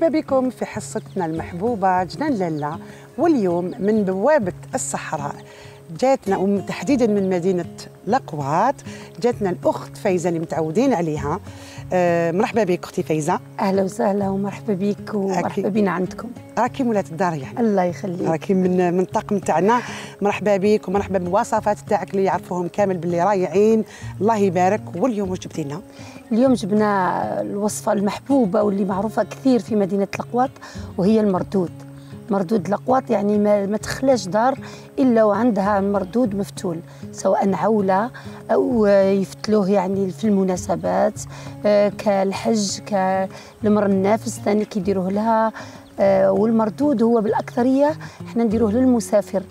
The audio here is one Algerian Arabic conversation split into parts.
مرحبا بكم في حصتنا المحبوبة جنان لالا. واليوم من بوابة الصحراء جاتنا وتحديدا من مدينة لقوات جاتنا الأخت فايزة اللي متعودين عليها. مرحبا بك أختي فايزة. أهلا وسهلا ومرحبا بك ومرحبا بنا عندكم. راكي مولاة الدار يعني. الله يخليك. راكي من الطاقم تاعنا. مرحبا بك ومرحبا بالوصفات تاعك اللي يعرفوهم كامل باللي رايعين. الله يبارك. واليوم واش جبتي لنا؟ اليوم جبنا الوصفة المحبوبة واللي معروفة كثير في مدينة لقوات وهي المردود. مردود لقوات يعني ما تخلاش دار إلا وعندها مردود مفتول، سواء عولة أو يفتلوه يعني في المناسبات كالحج كالمر النافس ثاني كيديروه لها. والمردود هو بالأكثرية احنا نديروه للمسافر.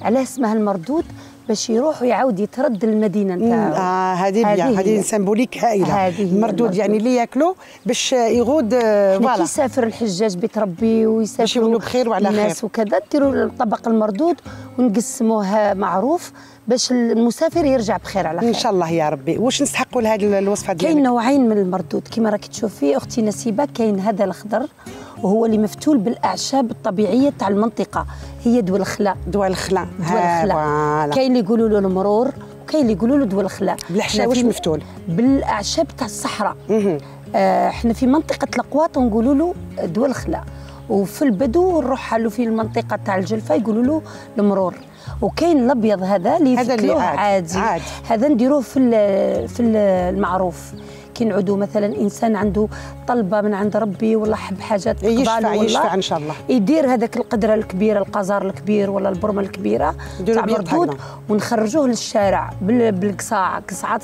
علاه اسمها المردود؟ باش يروح ويعاود يترد المدينه نتاعو. هذه سيمبوليك هائله. المردود يعني اللي ياكلوا باش يغود. فوالا كي يسافر الحجاج بيت ربي ويسافر باش يولوا بخير وعلى خير الناس وكذا، نديروا الطبق المردود ونقسموه معروف باش المسافر يرجع بخير على خير ان شاء الله يا ربي. واش نستحقوا لهذه الوصفه ديالك؟ كاين نوعين من المردود كما راك تشوفي اختي نسيبه. كاين هذا الاخضر وهو اللي مفتول بالاعشاب الطبيعيه تاع المنطقه، هي دول الخلا. دول الخلا. كاين اللي يقولوا له المرور وكاين اللي يقولوا له دول الخلا. بالاعشاب واش مفتول؟ بالاعشاب تاع الصحراء. احنا في منطقه لقوات نقولوا له دول الخلا، وفي البدو نروح له في المنطقه تاع الجلفه يقولوا له المرور. وكاين الابيض هذا اللي يفتلوه عادي. هذا نديروه في المعروف. كي نعودوا مثلا انسان عنده طلبه من عند ربي ولا حب حاجات يشفع ان شاء الله، يدير هذاك القدره الكبيره القزار الكبير ولا البرمه الكبيره تاع مردود ونخرجوه للشارع بالقصاع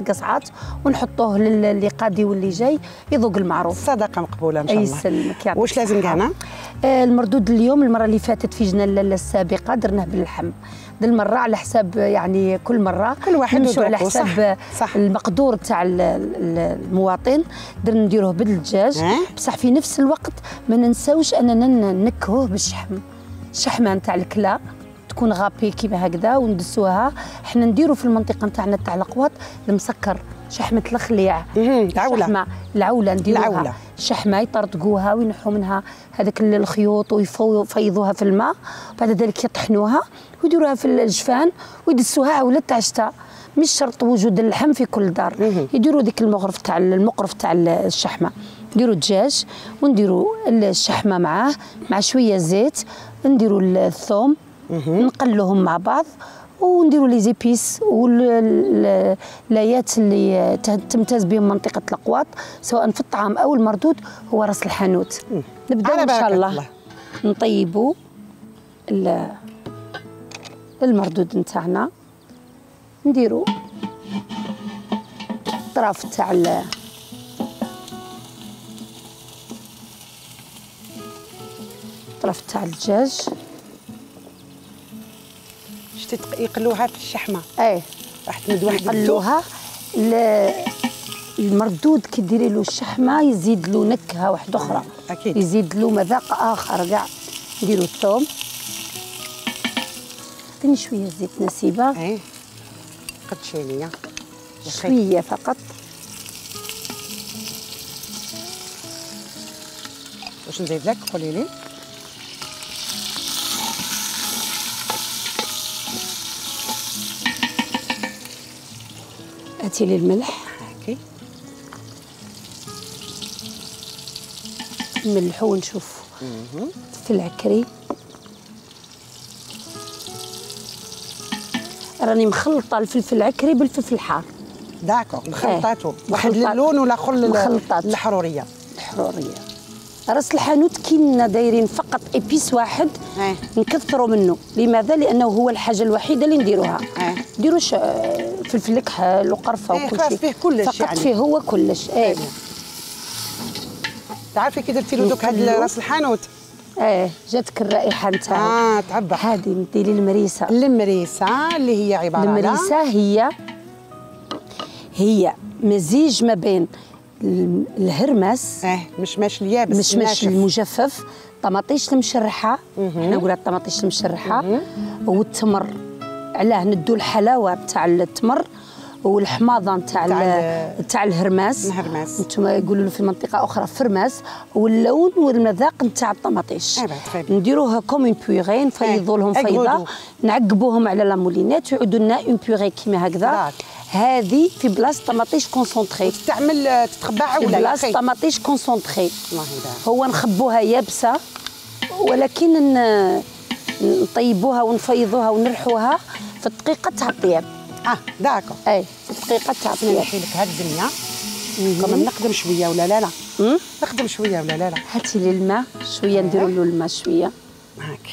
قصعات ونحطوه للي قادي واللي جاي يذوق المعروف. صدقه مقبوله ان شاء الله. يسلمك. واش لازم كاع؟ المردود اليوم المره اللي فاتت في جنان لالا السابقه درناه باللحم. ذي المره على حساب يعني كل مره كل واحد نمشوا على حساب صح. المقدور تاع المواطن. درنا نديروه بالدجاج بصح في نفس الوقت ما ننساوش اننا نكهوه بالشحم. الشحمه نتاع الكلا تكون غابي كيما هكذا وندسوها. احنا نديروا في المنطقه نتاعنا تاع لقوات المسكر شحمه الخليع. العوله نديروها شحمه يطرطقوها وينحوا منها هذاك الخيوط ويفيضوها في الماء، بعد ذلك يطحنوها ويديروها في الجفان ويدسوها عوله تاع الشتاء. مش شرط وجود اللحم في كل دار. يديروا ديك المقرف تاع الشحمه. نديروا الدجاج ونديروا الشحمه معاه مع شويه زيت، نديروا الثوم نقلوهم مع بعض ونديروا لي زيبيس واللايات اللي تمتاز بهم منطقه لقوات سواء في الطعام او المردود هو راس الحانوت. نبداو ان شاء الله نطيبوا المردود نتاعنا. نديروا الطراف تاع الدجاج. شتي يقلوها في الشحمه. راح تمد واحد يقلوها. المردود كي ديري له الشحمه يزيد له نكهه واحده اخرى. اكيد يزيد له مذاق اخر كاع. نديروا الثوم. عطيني شويه زيت نسيبه. قد شويه شويه فقط. واش نزيد لك؟ قولي لي. هاتي لي الملح. نملحو ونشوف في العكري. راني مخلطه الفلفل العكري بالفلفل الحار. داكو مخلطاتو واحد اللون ولا الحروريه. راس الحانوت كينا دايرين فقط ايبيس واحد نكثروا منه. لماذا؟ لانه هو الحاجه الوحيده اللي نديروها. نديروش فلفل كحل وقرفه وكل شيء. فيه كلش فقط يعني. فيه هو كلش. تعرفي كي درتي له دوك هاد راس الحانوت؟ جاتك الرائحه نتاعو. تعبى. هذه نديري المريسه. المريسه اللي هي عباره على المريسه هي مزيج ما بين الهرمس مشماش اليابس مشماش المجفف، طماطيش المشرحه. احنا نقولها الطماطيش المشرحه والتمر. علاه ندو الحلاوه تاع التمر والحماضه نتاع الهرماس. انتم يقولوا له في منطقه اخرى فرماس. واللون والمذاق نتاع الطماطيش. نديروها كوم اون بيغي، نفيضوا لهم فيضه، نعقبوهم على لامولينات ويعودوا لنا اون بيغي كيما هكذا. هذه في بلاصه طماطيش كونسونطري، تستعمل تتخبع ولا في بلاصه طماطيش كونسونطري. هو نخبوها يابسه، ولكن نطيبوها ونفيضوها ونرحوها في الدقيقه تاع الطياب. داكو. اي في الدقيقه تاع الطياب. نحي لك هاد الدنيا. كما نقدم شويه ولا لا؟ نخدم شويه ولا لا؟ هاتي لي الماء شويه، نديروا له الماء شويه. هاك.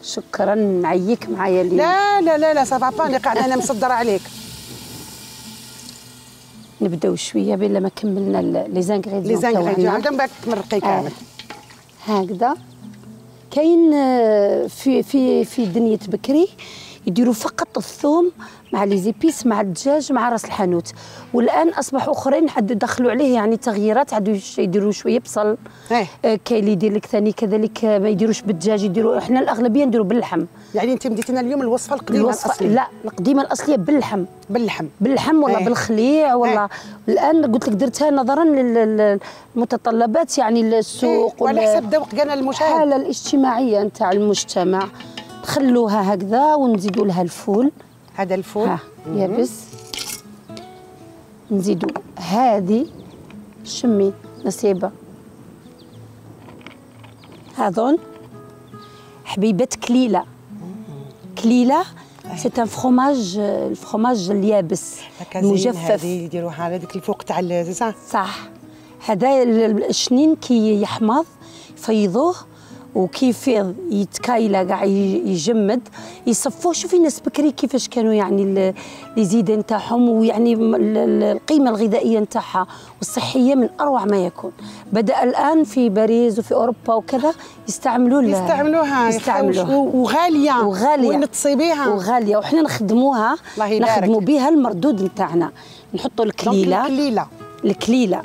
شكرا، نعيك معايا اليوم. لا لا لا لا سافا با، اللي قاعده انا مصدره عليك. نبداو شويه بلا ما كملنا لي زانغريديون عاود من بعد تمرقي كامل. هكذا. كاين في دنيا بكري يديروا فقط الثوم مع لي زيبيس مع الدجاج مع راس الحانوت، والان اصبحوا اخرين حدوا دخلوا عليه يعني تغييرات، عادوا يديروا شويه بصل. كاين اللي يدير لك ثاني كذلك ما يديروش بالدجاج، يديروا احنا الاغلبيه نديروا باللحم. يعني انت مديتي لنا اليوم الوصفه القديمه الاصليه؟ لا، القديمه الاصليه باللحم ولا بالخليع ولا. الان قلت لك درتها نظرا للمتطلبات يعني السوق وعلى حسب ذوق كان المشاهد، الحاله الاجتماعيه نتاع المجتمع. نخلوها هكذا ونزيدوا لها الفول. هذا الفول يابس. نزيدوا هذه شمي نسيبه، هذون حبيبات كليله. سي ان فروماج، الفروماج اليابس المجفف. هذه يديروها على ديك الفوق تاع صح. هذا الشنين كي يحمض يفيضوه وكيف يتكايله كاع يجمد يصفوه. شوفي الناس بكري كيفاش كانوا يعني لي زيدان نتاعهم، ويعني القيمه الغذائيه نتاعها والصحيه من اروع ما يكون. بدا الان في باريس وفي اوروبا وكذا يستعملوها وغاليه ونتصيبيها وغاليه، وحنا نخدموا بها المردود نتاعنا. نحطوا الكليله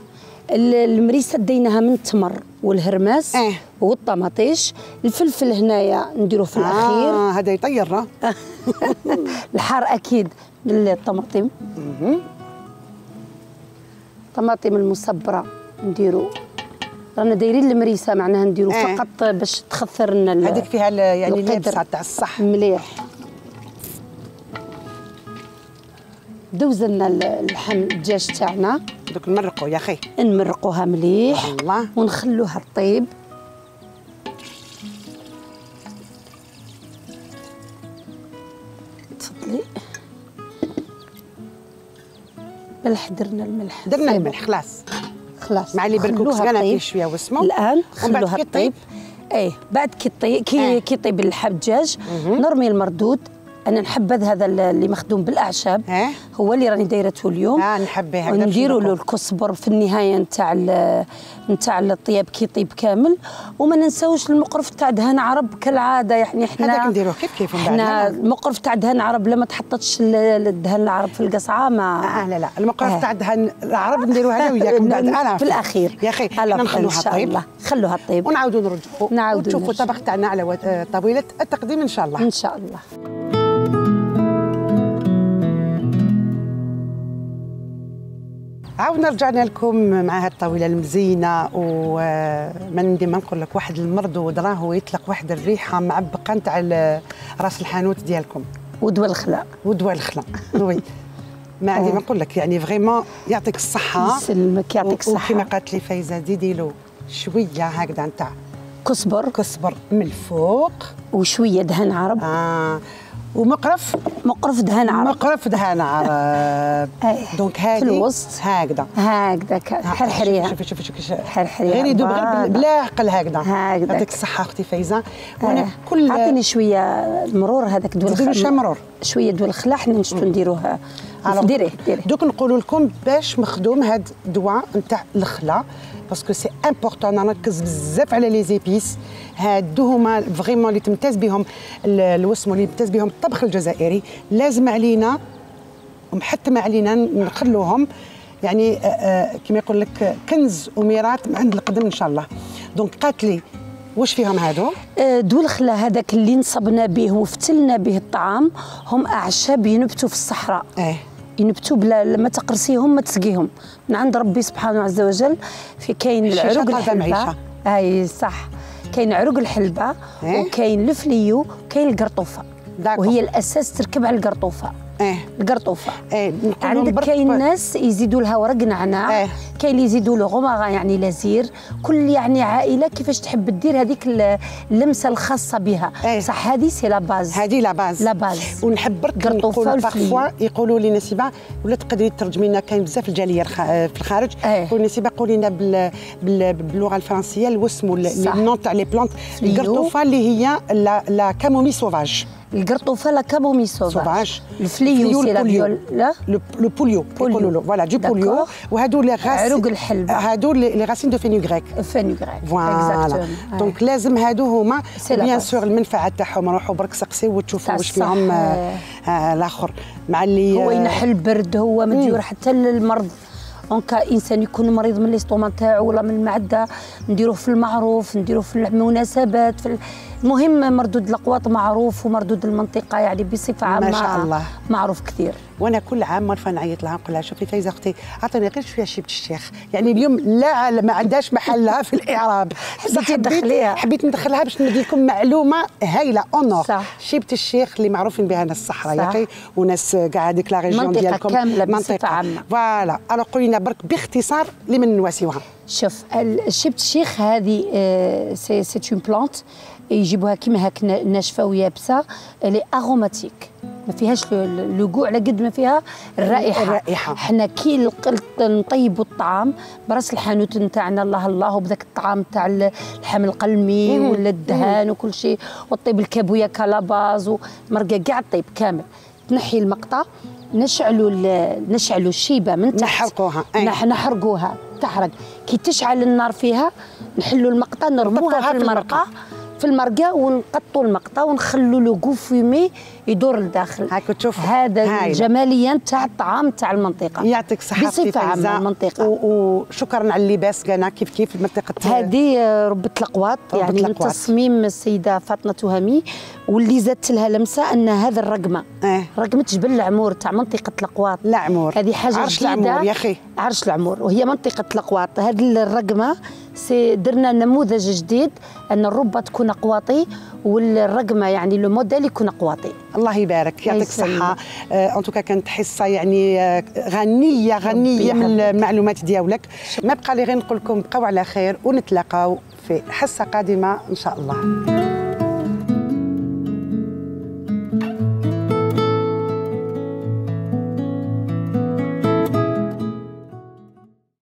المريسه ديناها من التمر والهرماس والطماطيش. الفلفل هنايا نديروه في الاخير. هذا يطير. الحار اكيد بالطماطم. الطماطم المصبره نديرو، رانا دايرين المريسه معناها نديرو فقط باش تخثر لنا هذيك فيها يعني اليابسه تاع الصح مليح. دوزنا اللحم الدجاج تاعنا، دوك نمرقوا يا اخي، نمرقوها مليح الله ونخلوها طيب. تفضلي. ملح، درنا الملح خلاص مع اللي بالكوكس كان فيه شويه واسمه. الان خلوها طيب. بعد كي يطيب اللحم الدجاج نرمي المردود. انا نحبذ هذا اللي مخدوم بالاعشاب، هو اللي راني دايرته اليوم. نحبه هكذا. ونديروا له الكزبر في النهايه نتاع الطياب كي يطيب كامل. وما ننساوش المقرف تاع دهان عرب كالعاده، يعني احنا هذاك نديروه كيف احنا المقرف تاع دهان عرب لما تحطتش الدهان العرب في القصعه ما لا المقرف تاع دهان العرب نديروه انا وياكم بعد في الاخير يا اخي. نخلوها طيب، خلوها طيب ونعاودوا نرجعوا وتشوفوا الطبق تاعنا على طاوله التقديم ان شاء الله. ان شاء الله. عاودنا رجعنا لكم مع هاد الطاوله المزينه، وما ديما نقول لك واحد المردود راهو يطلق واحد الريحه معبقه نتاع راس الحانوت ديالكم ودوا الخلا وي. ما ديما نقول لك يعني فريمون يعطيك الصحه. يسلمك يعطيك الصحه. وكما قالت لي فايزه زيدي له شويه هكذا نتاع كزبر من الفوق وشويه دهن عرب. ومقرف دهان عرب. دونك هذه في الوسط هكذا حرحريها. شوفي غير يدوب غير بلا عقل هكذا. يعطيك الصحه اختي فايزه. وانا كل عطيني شويه المرور هذاك مرور شويه دول الخلا حنا نشتو نديروه. ديريه دوك نقول لكم باش مخدوم هاد الدواء نتاع الخلا باسكو سي امبورطون. نركز بزاف على لي زيبيس هادو هما فريمون اللي تمتاز بهم الوسم اللي يمتاز بهم الطبخ الجزائري. لازم علينا ومحتم علينا نخلوهم يعني كما يقول لك كنز وميراث عند القدم ان شاء الله. دونك قالت لي واش فيهم هادو؟ دول الخلا هذاك اللي نصبنا به وفتلنا به الطعام هم اعشاب ينبتوا في الصحراء. ينبتوا بلا ما تقرصيهم ما تسقيهم من عند ربي سبحانه عز وجل. في كاين العروق الحلبه، اي صح، كاين عروق الحلبه وكاين الفليو وكاين القرطوفه، وهي الاساس تركب على القرطوفه. القرطوفه عندك كاين ناس يزيدوا لها ورق نعناع، كاين اللي يزيدوا له غمره يعني لازير، كل يعني عائله كيفاش تحب دير هذيك اللمسه الخاصه بها. صح هذه سي لا باز، هذه لا باز، لا باز. ونحب برك نقولوا بارفوا يقولوا لي نسيبه ولا تقدري ترجمي لنا، كاين بزاف الجاليه في الخارج يقولوا نسيبه قولي لنا باللغه الفرنسيه الوسم النون تاع لي بلانت. القرطوفه اللي هي لا كامومي سوفاج، القرطوفه لا كامومي سوفاج، الفليو سي لا فيولا، لو بوليو يقولوا له فوالا دو بوليو، وهادو لي عروق الحلبه، هادو لي راسين دو فينوغريك، فوالا. دونك لازم هادو هما بيان سور المنفعه تاعهم. روحوا برك سقسيو وتشوفوا واش فيهم الاخر مع اللي هو ينحل البرد، هو مديور حتى للمرض. دونك انسان يكون مريض من الاستوما تاعو ولا من المعده، نديروه في المعروف، نديروه في المناسبات، المهم مردود الاقواط معروف، ومردود المنطقه يعني بصفه عامه ما شاء الله معروف كثير. وانا كل عام مرة نعيط لها نقول لها شوفي فايزه اختي عطيني غير شويه شيبه الشيخ، يعني اليوم لا ما عندهاش محلها في الاعراب، حبيت ندخلها باش ندير لكم معلومه هايله اونور. شيبه الشيخ اللي معروفين بها ناس الصحراء يا اخي، وناس كاع هذيك لا ريجيون ديالكم كامله بصفه عامه. فوالا الو قولي لنا برك باختصار لمن نواسيوها. شوف شيبه الشيخ هذه سي اون بلانت يجيبوها كيما هاك ناشفه ويابسه، لي اروماتيك، ما فيهاش لو كوع على قد ما فيها الرائحه. حنا كي نطيبوا الطعام براس الحانوت نتاعنا الله الله، وبذاك الطعام تاع اللحم القلمي ولا الدهان وكل شيء، وطيب الكابويا كالاباز ومرقه كاع الطيب كامل، تنحي المقطع، نشعلوا الشيبه من تحت، نحرقوها تحرق، كي تشعل النار فيها نحلوا المقطع نرموها في المرقه ونقطوا المقطع ونخلوا لو كو فيمي يدور لداخل. هاك تشوف هذا الجماليه نتاع الطعام تاع المنطقه. يعطيك الصحه بصفه عامه المنطقه. وشكرا على اللباس كان كيف المنطقه هذه ربة الأقواط، يعني من تصميم السيده فاطمه تهامي، واللي زادت لها لمسه ان هذا الرقمه رقمه جبل العمور تاع منطقه الأقواط. العمور هذه حاجه عرش العمور يا اخي، عرش العمور، وهي منطقه الأقواط. هذه الرقمه درنا نموذج جديد ان الربه تكون اقواطي والرقمه يعني لو موديل يكون اقواطي. الله يبارك، يعطيك الصحه. ان توكا كانت حصه يعني غنيه من المعلومات ديالك. ما بقى لي غير نقول لكم بقاو على خير ونتلاقاو في حصه قادمه ان شاء الله.